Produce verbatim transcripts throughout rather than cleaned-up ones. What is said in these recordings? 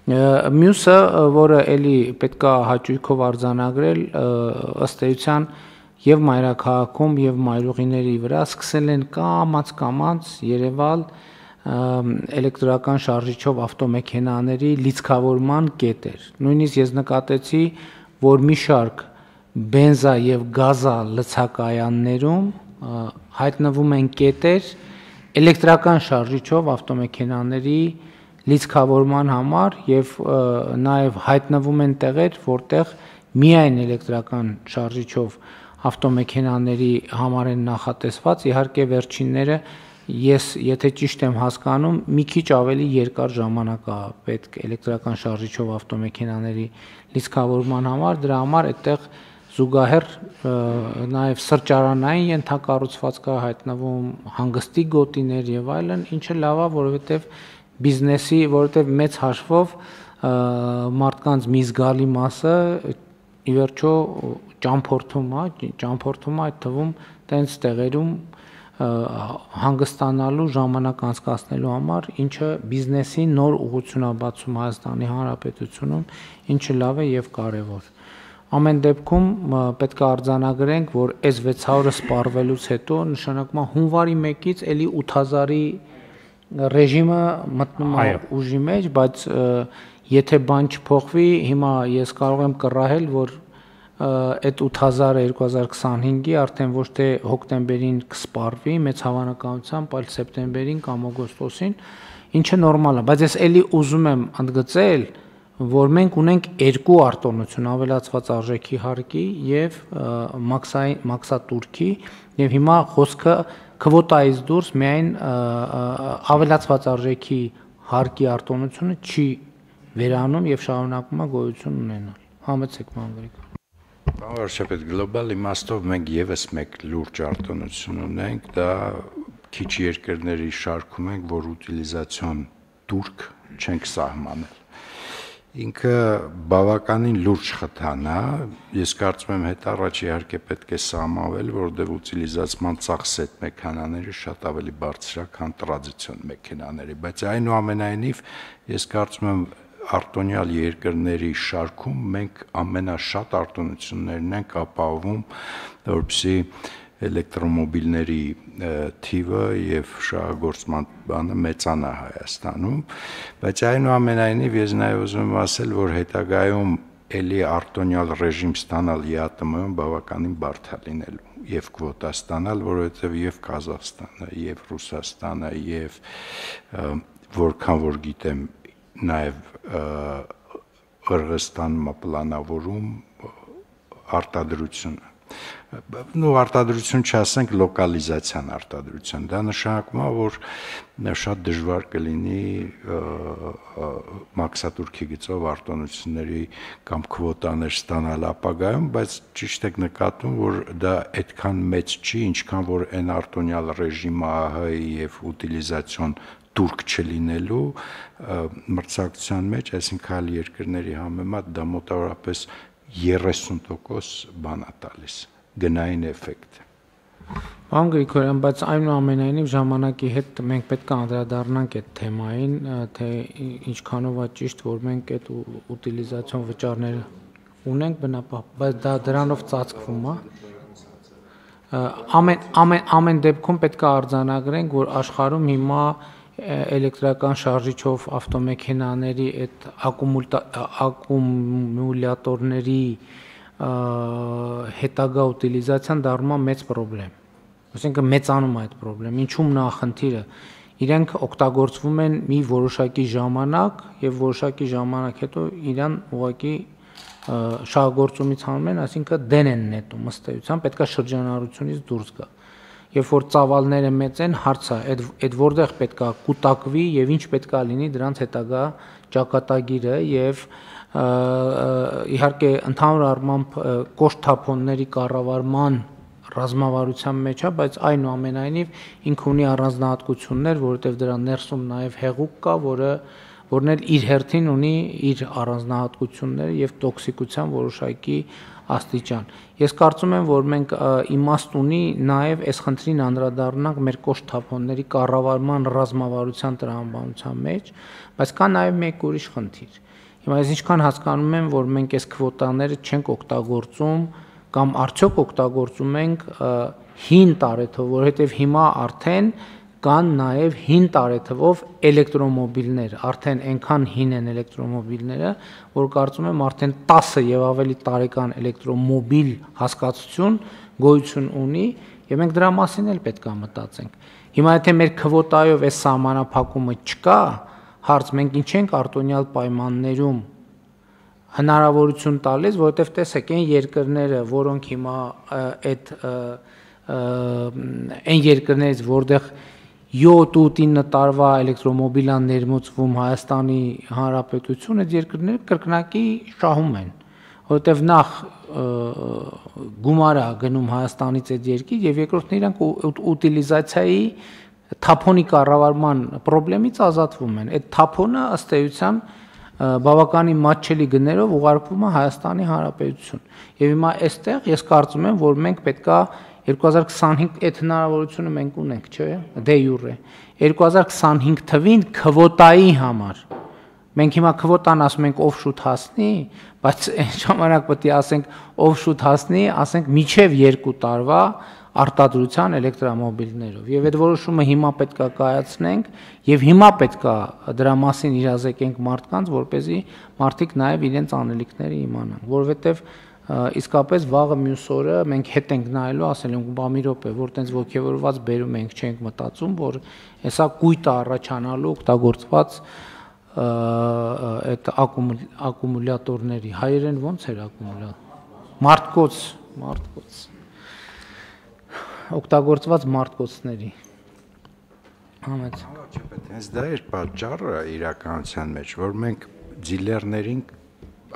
Մյուսը, որը էլի պետք է հաճույքով արձանագրել, ըստ էության եւ մայրաքաղաքում եւ մայրուղիների վրա սկսել են կամաց-կամաց երևալ էլեկտրական շարժիչով ավտոմեքենաների լիցքավորման կետեր։ Նույնիսկ ես նկատեցի, որ մի շարք բենզա եւ գազա լցակայաններում հայտնվում են կետեր էլեկտրական շարժիչով ավտոմեքենաների լիցքավորման համար եւ նաեւ հայտնվում են տեղեր, որտեղ միայն էլեկտրական շարժիչով ավտոմեքենաների համար են նախատեսված, իհարկե վերջինները ես եթե ճիշտ եմ հասկանում, մի քիչ ավելի երկար ժամանակ է պետք էլեկտրական շարժիչով ավտոմեքենաների լիցքավորման համար, դրա համար այդտեղ զուգահեռ նաեւ սրճարանային ենթակառուցվածք է հայտնվում, հանգստի գոտիներ եւ այլն, ինչը լավ է, որովհետեւ բիզնեսի, որովհետեւ մեծ հաշվով մարդկանց մի զգալի մասը ի վերջո ճամփորդում է, ճամփորդում է այդ թվում տենց տեղերում հանգստանալու ժամանակ անցկացնելու համար, ինչը բիզնեսի նոր ուղղություն է բացում Հայաստանի Հանրապետությունում, ինչը լավ է եւ կարեւոր։ Ամեն դեպքում պետք է արձանագրենք, որ այս վեց հարյուրը սպառվելուց հետո նշանակում է հունվարի մեկից էլի ութ հազարի ռեժիմը մտնում է ուժի մեջ, բայց եթե բան չփոխվի, հիմա ես կարող եմ կռահել, որ այդ ութ հազարը երկու հազար քսանհինգի արդեն ոչ թե հոկտեմբերին կսպառվի մեծ հավանականությամբ, այլ սեպտեմբերին կամ օգոստոսին, ինչը նորմալ է, բայց ես էլի ուզում եմ ընդգծել, որ մենք ունենք երկու արտոնություն, ավելացված արժեքի հարկի եւ մաքսատուրքի, եւ հիմա խոսքը քվոտայից դուրս միայն ավելացված արժեքի հարկի արտոնությունը չի վերանում եւ շարունակում է գոյություն ունենալ։ Համեցեք Մանգրիկ։ Պարոն վարչապետ, գլոբալ իմաստով մենք եւս մեկ լուրջ արտոնություն ունենք, դա քիչ երկրների շարքում ենք, որ ուտիլիզացիոն турք չենք սահմանել։ Ինքը բավականին լուրջ խթան է, ես կարծում եմ հետ առաջ իհարկե պետք է սահմանվել, որովհետև ուտիլիզացման ծախսետ մեքենաները շատ ավելի բարձր է, քան տրադիցիոն մեքենաների, բայց այնուամենայնիվ ես կարծում եմ արտոնյալ երկրների շարքում մենք ամենաշատ արտոնություններն ենք ապահովում, որպեսզի էլեկտրոմոբիլների թիվը եւ շահագործման բանը մեծանա Հայաստանում, բայց այնուամենայնիվ ես նաեւ ուզում եմ ասել, որ հետագայում էլի արտոնյալ ռեժիմ ստանալ ԵԱՏՄ-ում բավականին բարդ է լինելու եւ կվոտա ստանալ, որովհետեւ եւ Կազախստանը, եւ Ռուսաստանը, եւ որքան որ գիտեմ նաեւ Qırğızстанն պլանավորում արտադրությունը նո արտադրություն չասենք լոկալիզացիան արտադրություն դա նշանակում է որ շատ դժվար կլինի մաքսատուրքի գծով արտոնությունների կամ քվոտաներ ստանալ ապագայում բայց ճիշտ եք նկատում որ դա այդքան մեծ չի ինչքան որ այն արտոնյալ ռեժիմը ԱՀ-ի եւ ուտիլիզացիոն турք չլինելու մրցակցության մեջ այսինքն այլ երկրների համեմատ դա մոտավորապես երեսուն տոկոս բան է տալիս գնային էֆեկտ։ Պարոն Գրիգորյան, բայց այնուամենայնիվ ժամանակի հետ մենք պետք է անդրադառնանք այդ թեմային, թե ինչքանով է ճիշտ, որ մենք այդ ուտիլիզացիոն վճարները ունենք բնապահ, բայց դա դրանով ծածկվում է։ Ամեն ամեն ամեն դեպքում պետք է արձանագրենք, որ աշխարհում հիմա էլեկտրական շարժիչով ավտոմեքենաների այդ ակումուլյատորների հետագա ուտիլիզացիան դառնում է մեծ խնդրեմ։ Այսինքն մեծանում է այդ խնդրեմ։ Ինչու՞մն է խնդիրը։ Իրենք օգտագործվում են մի որոշակի ժամանակ եւ որոշակի ժամանակ հետո իրան ուղղակի շահագործումից հանում են, այսինքն դեն են նետում ըստ էության, պետք է շրջանառությունից դուրս գա։ Երբ որ ծավալները մեծ են, հարց է, այդ այդ որտեղ պետք է կուտակվի եւ ինչ պետք է լինի դրանց հետագա ճակատագիրը եւ իհարկե ընդհանուր առմամբ կոշտ-թափոնների կառավարման ռազմավարության մեջ է, բայց այնուամենայնիվ ինքը ունի առանձնահատկություններ, որովհետեւ դրա ներսում նաեւ հեղուկ կա, որը որն էլ իր հերթին ունի իր առանձնահատկությունները եւ տոքսիկության որոշակի աստիճան։ Ես կարծում եմ, որ մենք իմաստ ունի նաեւ այս խնդրին անդրադառնանք մեր կոշտ թափոնների կառավարման ռազմավարության տրամաբանության մեջ, բայց կա նաեւ մեկ ուրիշ խնդիր։ Հիմա ես ինչքան հասկանում եմ, որ մենք այս քվոտաները չենք օգտագործում կամ արդյոք օգտագործում ենք հին տարեթվով, որովհետև հիմա արդեն կան նաև հին տարեթվով էլեկտրոմոբիլներ, արդեն այնքան հին են էլեկտրոմոբիլները, որ կարծում եմ արդեն տասը եւ ավելի տարեկան էլեկտրոմոբիլ հասկացություն գոյություն ունի եւ մենք դրա մասին էլ պետք է մտածենք։ Հիմա եթե մեր քվոտայով այս սահմանափակումը չկա, հարց մենք ինչ ենք արտոնյալ պայմաններում հնարավորություն տալիս, որովհետև տեսեք, այն երկրները, որոնք հիմա այդ այն երկրներից, որտեղ յոթ-ութ-ինը տարվա էլեկտրոմոբիլ են ներմուծվում Հայաստանի Հանրապետություն, այդ երկրները կրկնակի շահում են, որովհետև նախ գումար է գնում Հայաստանից այդ երկիր եւ երկրորդն իրանք ուտիլիզացիայի թափոնի կառավարման խնդրից ազատվում են։ Այդ թափոնը ըստ էության բավականին մատչելի գներով ուղարկվում է Հայաստանի Հանրապետություն։ Եվ հիմա այստեղ ես կարծում եմ, որ մենք պետքա երկու հազար քսանհինգ այդ հնարավորությունը մենք ունենք, չէ՞, դե յուրե։ երկու հազար քսանհինգ թվին քվոտայի համար մենք հիմա քվոտան ասում ենք ով շուտ հասնի, բայց այն ժամանակ պետք է ասենք ով շուտ հասնի, ասենք միջև երկու տարվա արտադրության էլեկտրոմոբիլներով։ Եվ այդ որոշումը հիմա պետք է կայացնենք եւ հիմա պետք է դրա մասին իրազեկենք մարդկանց, որպեսզի մարդիկ նաեւ իրենց անելիքները իմանան, որովհետեւ իսկապես վաղը մյուս օրը մենք հետ ենք նայելու, ասել ենք բա մի րոպե, որ տենց ողջևորված բերում ենք, չենք մտածում, որ հեսա կույտը առաջանալու օգտագործված այդ ակումուլյատորների հայերեն ո՞նց էր ակումուլյատոր մարդկոց մարդկոց օգտագործված մարդկոցների համեց հենց դա էր պատճառը իրականության մեջ, որ մենք դիլերներին,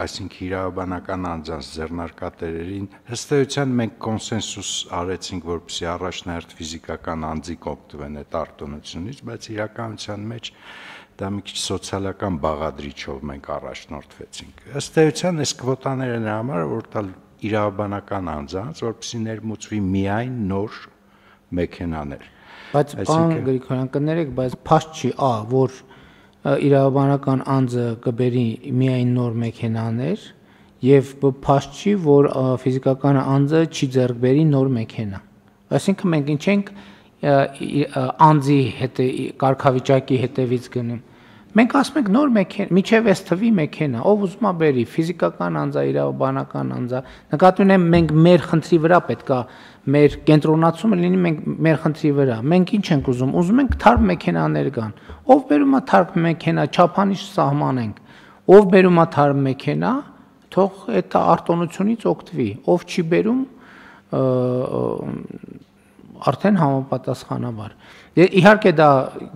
այսինքն իրավաբանական անձանց ձեռնարկատերերին ըստ էության մենք կոնսենսուս արեցինք, որպեսզի առաջնահերթ ֆիզիկական անձիկ օգտվեն այդ արտոնությունից, բայց իրականության մեջ դա մի քիչ սոցիալական բաղադրիչով մենք առաջնորդվեցինք։ Ըստ էության այս քվոտաները նրա համար որ տալ իրավաբանական անձանց, որպեսզի ներմուծվի միայն նոր մեքենաներ։ Բայց բան Գրիգորյան կներեք, բայց փաստ չի, ա, որ իրավաբանական անձը կբերի միայն նոր մեքենաներ եւ փաստ չի, որ ֆիզիկական անձը չի ձեռք բերի նոր մեքենա։ Այսինքն մենք ինչ ենք անձի հետ կարգավիճակի հետևից գնում։ Մենք ասում ենք նոր մեքենա, միջև այս թվի մեքենա, ով ուզում է բերի, ֆիզիկական անձա, իրավաբանական անձա։ Նկատի ունեմ մենք մեր խնդրի վրա պետքա մեր կենտրոնացումը լինի մենք մեր խնդրի վրա։ Մենք ինչ ենք ուզում, ուզում ենք թարմ մեքենաներ կան։ Ով բերում է թարմ մեքենա, չափանիշ սահմանենք։ Ով բերում է թարմ մեքենա, թող այդ արտոնությունից օգտվի։ Ով չի բերում, արդեն համապատասխանաբար։ Իհարկե դա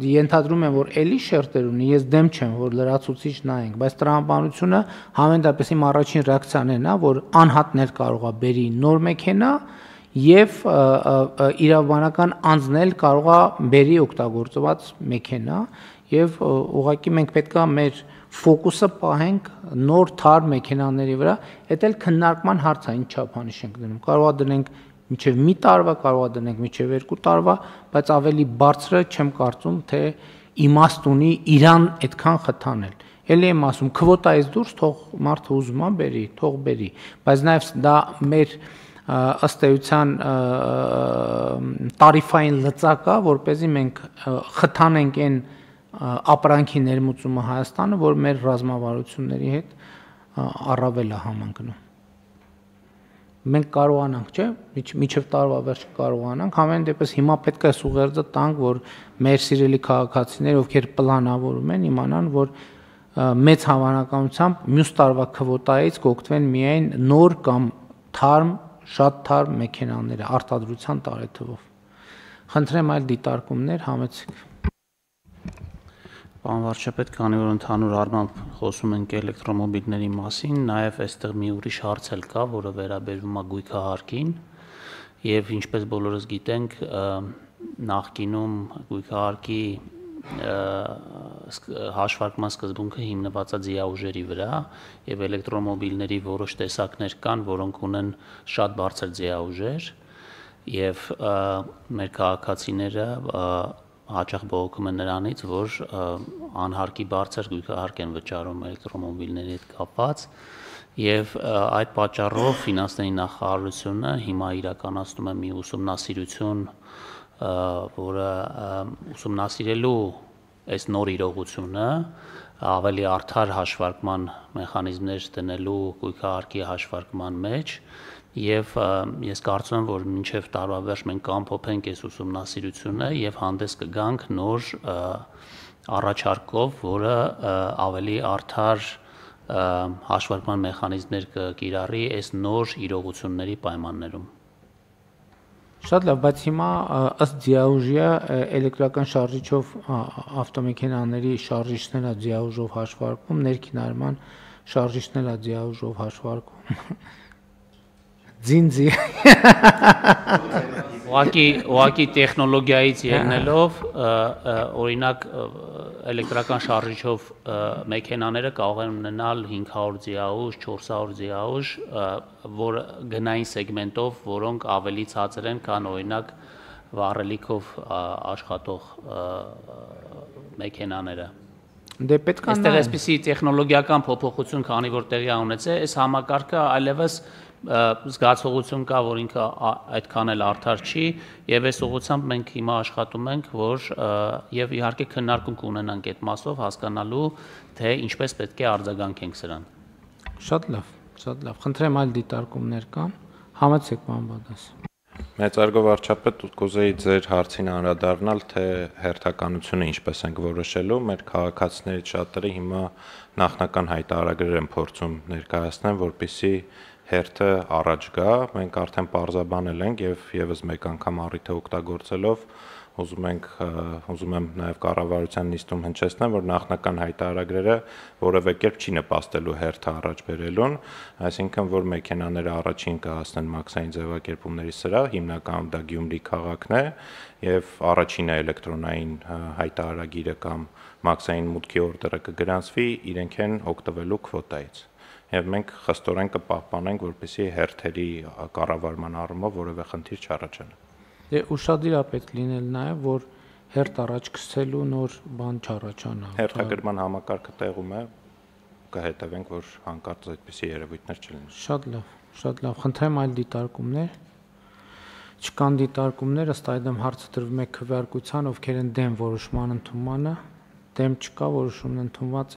ենթադրում եմ, որ էլի շերտեր ունի, ես դեմ չեմ, որ լրացուցիչ նայենք, բայց տրամաբանությունը համենայնպես իմ առաջին ռեակցիան է նա, որ անհատներ կարող է բերի նոր մեքենա եւ իրավաբանական անձն էլ կարող է բերի օգտագործված մեքենա եւ ուղղակի մենք պետքա մեր ֆոկուսը պահենք նոր թարմ մեքենաների վրա, դա էլ քննարկման հարց է, ինչ չափանիշ ենք դնում։ Կարող է դնենք մինչև մի տարվա, կարող է դնենք մինչև երկու տարվա, բայց ավելի բարձրը չեմ կարծում, թե իմաստ ունի իրան այդքան խթանել։ Էլի եմ ասում, քվոտայից դուրս թող մարդը ուզում է բերի, թող բերի, բայց նաև դա մեր ըստ էության տարիֆային լծակա, որպեսզի մենք խթանենք այն ապրանքի ներմուծումը Հայաստանը, որ մեր ռազմավարությունների հետ առավել է համընկնում։ Մենք կարողանանք, չէ՞, միջև տարվա վերջ կարողանանք, համեն դեպս հիմա պետք է սուղերձը տանք, որ մեր սիրելի քաղաքացիները, ովքեր պլանավորում են, իմանան, որ մեծ հավանականությամբ մյուս տարվա քվոտայից կօգտվեն միայն նոր կամ թարմ, շատ թարմ մեքենաները արտադրության տարեթվով։ Խնդրեմ այլ դիտարկումներ համեցեք։ Պարոն վարչապետ, քանի որ ընդհանուր առմամբ խոսում ենք էլեկտրոմոբիլների մասին, նաև այստեղ մի ուրիշ հարց էլ կա, որը վերաբերում է գույքահարկին, եւ ինչպես բոլորս գիտենք, նախկինում գույքահարկի հաշվարկման սկզբունքը հիմնված է ձիաուժերի վրա եւ էլեկտրոմոբիլների որոշ տեսակներ կան, որոնք ունեն շատ բարձր ձիաուժեր եւ մեր քաղաքացիները հաճախ բողոքում են նրանից, որ անհարկի բարձր գույքահարկ են վճարում էլեկտրոմոբիլների հետ կապված եւ այդ պատճառով ֆինանսների նախարարությունը հիմա իրականացնում է մի ուսումնասիրություն, որը ուսումնասիրելու այս նոր իրողությունը ավելի արդար հաշվարկման մեխանիզմներ դնելու գույքահարկի հաշվարկման մեջ եւ ես կարծում եմ, որ մինչեւ տարվա վերջ մենք կամփոփենք այս ուսումնասիրությունը եւ հանդես կգանք նոր առաջարկով, որը ավելի արդար հաշվարկման մեխանիզմներ կկիրառի այս նոր իրողությունների պայմաններում։ Շատ լավ, բայց հիմա ըստ ձիաուժի էլեկտրական շարժիչով ավտոմեքենաների շարժիչներն է ձիաուժով հաշվարկվում, ներքինարման շարժիչներն է ձիաուժով հաշվարկվում։ Ձինձի։ Ուղղակի ուղղակի տեխնոլոգիայից ելնելով, օրինակ էլեկտրական շարժիչով մեքենաները կարող են ունենալ հինգ հարյուր ձիաուժ, չորս հարյուր ձիաուժ, որ գնային սեգմենտով, որոնք ավելի ցածր են, քան օրինակ վառելիքով աշխատող մեքենաները։ Դե պետք է այստեղ այսպիսի տեխնոլոգիական փոփոխություն, քանի որ տեղի է ունեցել, այս համակարգը այլևս զգացողություն կա, որ ինքը այդքան էլ արդար չի եւ այս ուղղությամբ մենք հիմա աշխատում ենք, որ եւ իհարկե քննարկում կունենանք այդ մասով հասկանալու, թե ինչպես պետք է արձագանքենք սրան։ Շատ լավ, շատ լավ։ Խնդրեմ այլ դիտարկումներ կան։ Համեցեք պարոն Բադաս։ Մեծարգո վարչապետ, կուզեի ձեր հարցին անդրադառնալ, թե հերթականությունը ինչպես ենք որոշելու։ Մեր քաղաքացիներից շատերը հիմա նախնական հայտարարագրեր են փորձում ներկայացնել, որպեսզի հերթը առաջ գա, մենք արդեն պարզաբանել ենք եւ եւս մեկ անգամ առիթը օգտագործելով ուզում ենք ուզում եմ նաեւ կառավարության նիստում հնչեցնել, որ նախնական հայտարարագրերը որևէ կերպ չի նպաստելու հերթը առաջ բերելուն, այսինքն որ մեքենաները առաջին կհասնեն մաքսային ձևակերպումների սրահ, հիմնականում դա Գյումրի քաղաքն է եւ առաջինը էլեկտրոնային հայտարարագիրը կամ մաքսային մուտքի օրդերը կգրանցվի իրենք են օգտվելու քվոտայից։ Եվ մենք խստորեն կպահպանենք, որպեսզի հերթերի կառավարման առումով որևէ խնդիր չառաջանա։ Դե ուշադիր է պետք լինել նաև, որ հերթ առաջ գցելու նոր բան չառաջանա։ Հերթագրման համակարգը տեղում է, կհետևենք, որ հանկարծ այդպիսի երևույթներ չլինեն։ Շատ լավ, շատ լավ։ Խնդրեմ այլ դիտարկումներ։ Չկան դիտարկումներ, ըստ այդմ հարցը տրվում է քվեարկության, ովքեր են դեմ որոշման ընդունմանը, դեմ չկա, որոշումն ընդունված